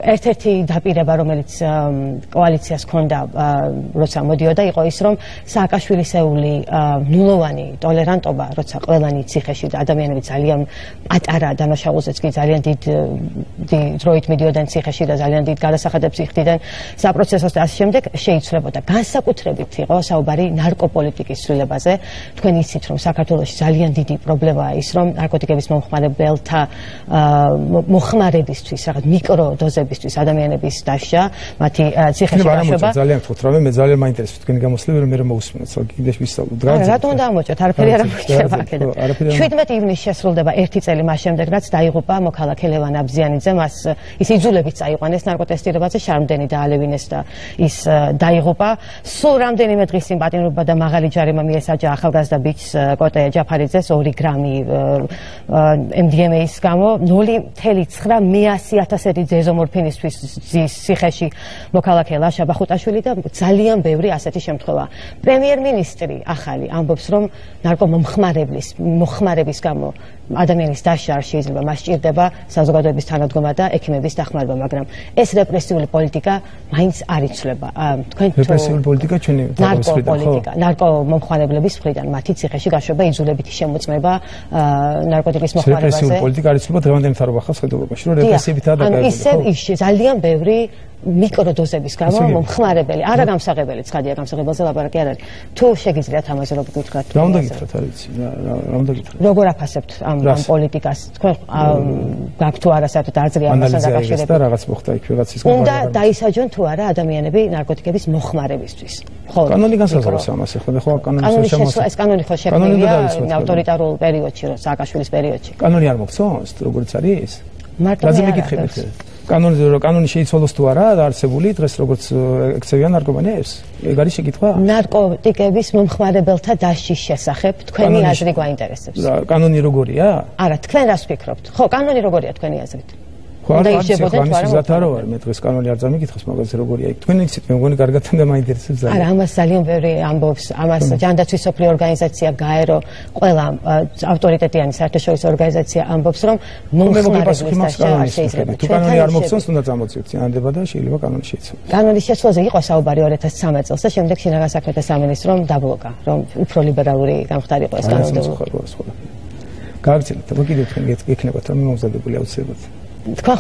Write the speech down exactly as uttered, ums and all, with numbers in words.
ერთ-ერთი დაპირება, რომელიც კოალიციას ჰქონდა, როცა მოდიოდა, იყო ის, რომ სააკაშვილისეული ნულოვანი ტოლერანტობა, როცა ყველანი ციხეში და ადამიანები ძალიან პატარა დანაშაულზეც კი ძალიან დიდ დროით მიდიოდნენ ციხეში და ძალიან დიდ გადასახადებს იხდიდნენ საპროცესოს და ასე შემდეგ, შეიცვლებოდა. განსაკუთრებით იყო საუბარი ნარკოპოლიტიკის ცვლილებაზე. თქვენ იცით, რომ საქართველოში ძალიან დიდი პრობლემაა ის, რომ ნარკოტიკების მომხმარებელთა მოხმარებისთვის, რაღაც მიკროდოზებისთვის ადამიანების დასჯა, მათი ციხეში გაშვება. ძალიან ვთქვით, რომ მე ძალიან მაინტერესებს თქვენი გამოსვლები, რომ მე რომ მოვუსმინოთ, კიდე ვისაუბროთ. რატომ უნდა ამოჭოთ? არაფერი არ ამოჭრება აქედან. შვიდმეტი ივნისში შესრულდება ერთი წელი მას შემდეგ, რაც დაიღუპა მოქალაქე ლევან აბზიანიძე, მას ის იძულებით წაიყვანეს ნარკოტესტირებაზე, შარმდენი დაალევინეს და ის დაიღუპა. სულ რამდენიმე დღის წინ პატიმრობა და მაღალი ჯარიმა მიესაჯა ახალგაზრდა ბიჭს კოტე ჯაფარიძეს ორი გრამი ემ დი ემ ეის გამო, ნული მთელი ცხრა მეასი ათასი ზეზომორფინისთვის ზის ციხეში მოქალაქე ლაშა ბახუტაშვილი და ძალიან ბევრი ასეთი შემთხვევა. პრემიერ-მინისტრი ახალი ამბობს, რომ ნარკომომხმარებლის მოხმარების გამო ადამიანის დასჯა არ შეიძლება, მას სჭირდება საზოგადოების თანადგომა და ექიმების დახმარება, მაგრამ ეს რეპრესიული პოლიტიკა მაინც არ იცვლება. თქვენ რეპრესიული პოლიტიკა ჩვენი ნარკოპოლიტიკა, ნარკომომხმარებლების მხრიდან მათი ციხეში გაშვება, იძულებითი შემოწმება ნარკოტიკის მოხმარებაზე. რეპრესიული პოლიტიკა არ იცვლება დღევანდელი მთავრობა ხალხს ხედულობაში, რომ რეპრესიებითაა დაკავებული. ისე ის ძალიან ბევრი მიკროდოზების გამო მომხმარებელი, არა გამსაღებელი, ცხადია გამსაღებელზე ლაპარაკი არ არის. თუ შეგიძლიათ ამაზე როგორ გითხრათ? რა უნდა გითხრათ, არ ვიცი, რა უნდა გითხრათ? როგორ აფასებთ ამ პოლიტიკას? თქვენ გაქვთ თუ არა საერთოდ აზრი ამასთან დაკავშირებით? და რაღაც მოხდა იქ ვიღაცის გამო. უნდა დაისაჯონ თუ არა ადამიანები ნარკოტიკების მოხმარებისთვის. ხო. კანონი განსაზღვრავს ამას, ხო, ხო, კანონის შემოსა. ეს კანონი ხო შექმნილია ავტორიტარულ პერიოდში, რომ სააკაშვილის პერიოდში. კანონი არ მოგწონს, როგორც არის? მარტო რაზე მეკითხებით? კანონი კანონი შეიცვალოს თუ არა არსებული დღეს როგორც ექცევიან ნარკომანიებს? ეგ არის შეკითხვა? ნარკოტიკების მომხმარებელთა დასჯის შესახებ თქვენი აზრი გვაინტერესებს. კანონი როგორია? არა, თქვენ რას ვფიქრობთ? ხო, კანონი როგორია თქვენი აზრით? ხო, არ არის ზათ არ ვარ, მე დღეს კანონი არ წამიკითხოს, მაგაზე როგორია იქ. თქვენ იცით, მე მგონი კარგად და მაინტერესებს ძალიან. არა, ამას ძალიან ბევრი ამბობს, ამას ჯანდაცვის სოფლიო ორგანიზაცია გაერო, ყველა ავტორიტეტიანი საერთაშორისო ორგანიზაცია ამბობს, რომ მომხმარებლის დასჯა არ შეიძლება. თუ კანონი არ მოგწონს, უნდა წამოწიოთ წინადება და შეიძლება კანონი შეიცვალოს. კანონის შეცვლაზე იყო საუბარი ორი ათას ცხრამეტ წელს და შემდეგ შინაგან საქმეთა სამინისტრომ დაბლოკა, რომ უფრო ლიბერალური გამხდარიყო ეს კანონი. გააგრძელოთ, აბა კიდევ თქვენ გექნებათ, რომ მომზადებული აუცილებლად. თქვენ